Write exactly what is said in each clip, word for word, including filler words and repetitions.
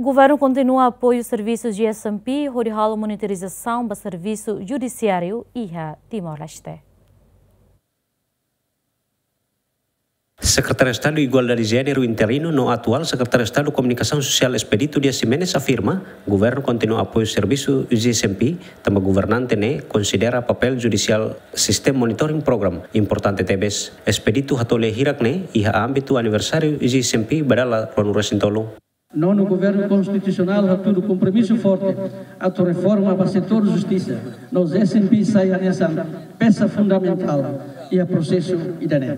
Governu kontinua apoiu servisu G S M P hodi halo monitorizasaun ba servisu judisiáriu iha Timor-Leste. Sekretáriu Estadu Igualdade Jéneru interinu no atuál Sekretáriu Estadu Komunikasaun Sosiál Expedito Dias Ximenes afirma, governu kontinua apoiu servisu G S M P, tanba governante ne'e konsidera papél judisiál sistema monitoring program importante tebes. Expedito hato'o lia hirak ne'e iha ámbitu aniversáriu G S M P ba dala ruanulu-resin-tolu. Nonu Governu Konstitusionál hatudu kompromisu forte atu reforma ba setór justisa, no G S M P sai hanesan peça fundamentál iha prosesu ida-ne'e.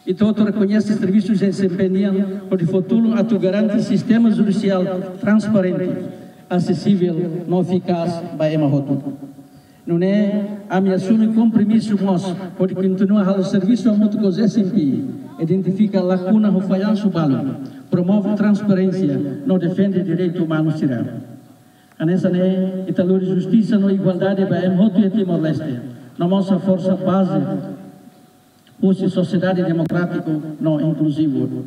Ita hotu rekoñese servisu G S M P nian hodi fó tulun atu garante sistema judisiál transparente, asesivel no efikás ba ema hotu. Nune'e, ami asume kompromisu mós hodi kontinua halo servisu hamutuk ho G S M P, identifika lakuna ho fallansu balu, promove transparénsia no defende direitu umanu sira. Hanesan ne'e, ita lori justisa no igualdade ba ema hotu iha Timor-Leste, no mós haforsa baze husi sosiedade demokrátiku no inkluzivu.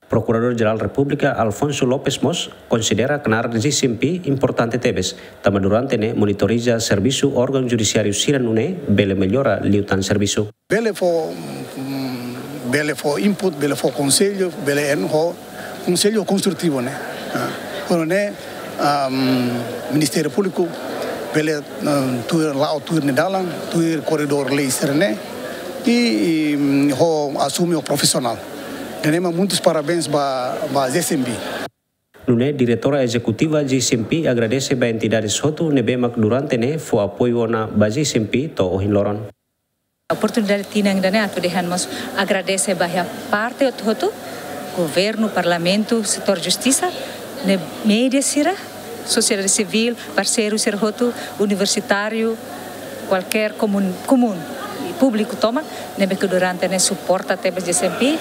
Prokuradór Jerál Repúblika Alfonso Lopes mós konsidera knaar G S M P importante tebes, tanba durante ne'e monitoriza servisu órgaun judisiáriu sira nune'e bele mellora liután servisu. Bele fó, mm, bele fó input, bele fó konsellu, bele en ho konsellu konstrutivu ne'e. Ah, kono ne'e, am, Ministériu Públiku bele, am, tuir la'o, tuir nia dalan, tuir koridór lei sira-ne'e, i, i, mm, ho asume ho profisionál. Ida-ne'e mak muitus parabéns ba, ba G S M P. Nune'e Diretora Ezekutiva G S M P agradese ba entidades hotu ne'ebé mak durante ne'e fó apoiu ona ba G S M P to'o ohin loron. Oportunidade tinan ida-ne'e atu dehan mós agradese ba iha parte hotu-hotu, governu, parlamentu, setór justisa, ne'e média sira, sosiedade sivíl, parseiru sira hotu, universitáriu, kualkér komun, komun, públiku tomak, ne'ebé ke durante ne'e suporta tebes G S M P,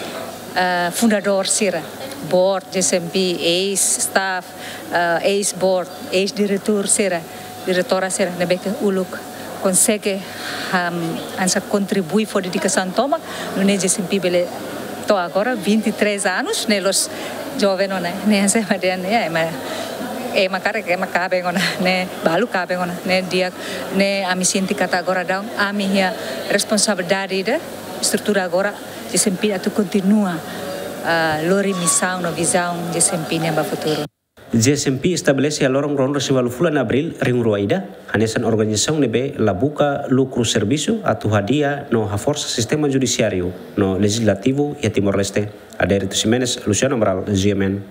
eh, fundadór sira, board G S M P, eis-staff, eh, eis-board, eis-diretór sira, diretora sira, ne'ebé ke uluk konsege, am, hanesan kontribui fó dedikasaun tomak, nune'e G S M P bele to'o agora vinte e três anos, ne'e la'ós joven ona, ne'e hanesan ema dehan, ya, ema, ema karik, ema kaben ona, ne'e balu kaben ona, ne'e di'ak, ne'e ami sente katak agora daudaun, ami iha responsabilidade ida, estrutura agora, G S M P atu kontinua, ah, lori misaun no vizaun G S M P nian ba futuru. G S M P estabelese iha loron ruanulu-resin-ualu fulan Abríl rihun rua ida, hanesan organizasaun ne'ebé la buka lukru servisu atu hadi'a no haforsa sistema judisiáriu no lejizlativu iha Timor-Leste. Adérito Ximenes, Luciano Amaral, G M N.